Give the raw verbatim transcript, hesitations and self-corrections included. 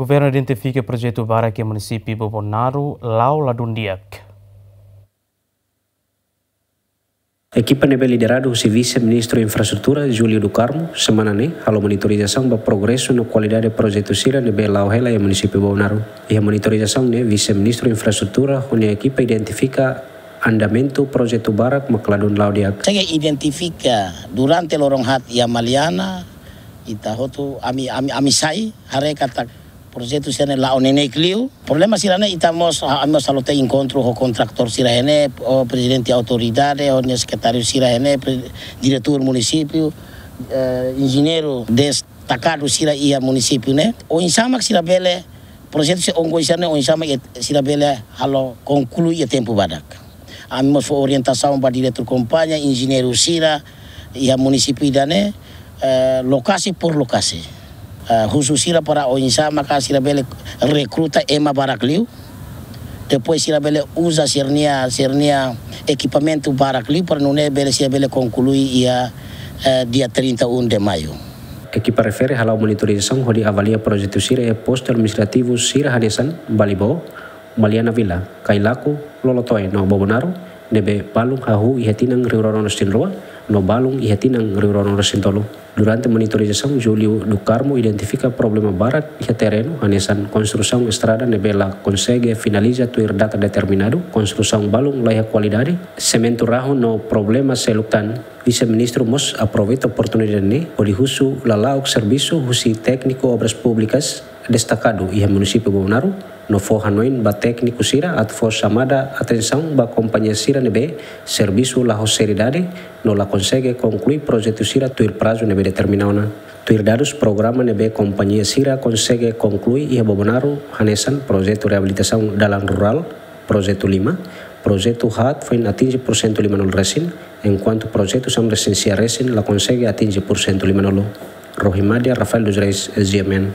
Governu identifika projetu barak iha munisípiu Bobonaro la'o ladún di'ak. Ekipa ne'ebé lideradu husi Vise-Ministru Infraestrutura, Júlio do Carmo, semana ne'e halo monitorizasaun ba progresu no kualidade projetu sira ne'ebé la'o hela iha munisípiu Bobonaro. Iha monitorizasaun ne'e, Vise-Ministru Infraestrutura ho nia ekipa identifika andamentu projetu barak mak ladún la'o di'ak. Sega identifika durante loron haat iha Maliana, ita hotu ami, ami, ami sai haree katak projetu sira ne'e la'o neineik liu. Problema sira ne'e ita mós, ami mós halo tiha enkontru ho kontraktór sira iha ne'e, ho prezidente autoridade, ho nia sekretáriu sira iha ne'e, pre-, diretór munisípiu, eh, enjeñeiru destakadu sira iha munisípiu ne'e. Oinsá mak sira bele, projetu sira ongoing sira ne'e oinsá mak sira bele halo konklui iha tempu badak. Ami mós fó orientasaun ba diretór kompañia, enjeñeiru sira iha munisípiu ida-ne'e, eh, lokasi por lokasi. Eh, husu sira para oinsá maka sira bele rekruta ema barak liu. Depois sira bele uza sira-nia, sira-nia ekipamentu barak liu para nune'e bele sira bele konklui iha, eh, dia trinta e um de maio. Ekipa refere hala'o monitorizasaun hodi avalia projetu sira iha postu administrativu sira hanesan Balibó, Maliana Vila, Kailaku, Lolotoe no Bobonaro, ne'ebé balun hahú iha tinan rihun rua ruanulu-resin-rua, no balun iha tinan rihun rua ruanulu-resin-tolu. Durante monitorizasaun, Júlio do Carmo identifika problema barak iha terrenu, hanesan konstrusaun estrada ne'ebé la konsege finaliza tuir data determinadu, konstrusaun balun laiha kualidade, sementu rahun no problema seluk tan. Vise-Ministru mós aproveita oportunidade ne'e hodi husu lala'ok servisu husi tékniku Obras Públikas destakadu iha munisípiu Bobonaro, no fó hanoin ba tékniku sira atu fó xamada atensaun ba kompañia sira ne'ebé servisu la ho seriedade, no la konsege konklui projetu sira tuir prazu ne'ebé determina ona. Tuir dadus programa ne'ebé kompañia sira konsege konklui iha Bobonaro, hanesan projetu reabilitasaun dalan rurál, projetu lima, projetu haat foin atinje porsentu limanulu-resin, enkuantu projetu samresin sia resin la konsege atinje porsentu limanulu. Rohimadia Rafael dos Reis, G M N.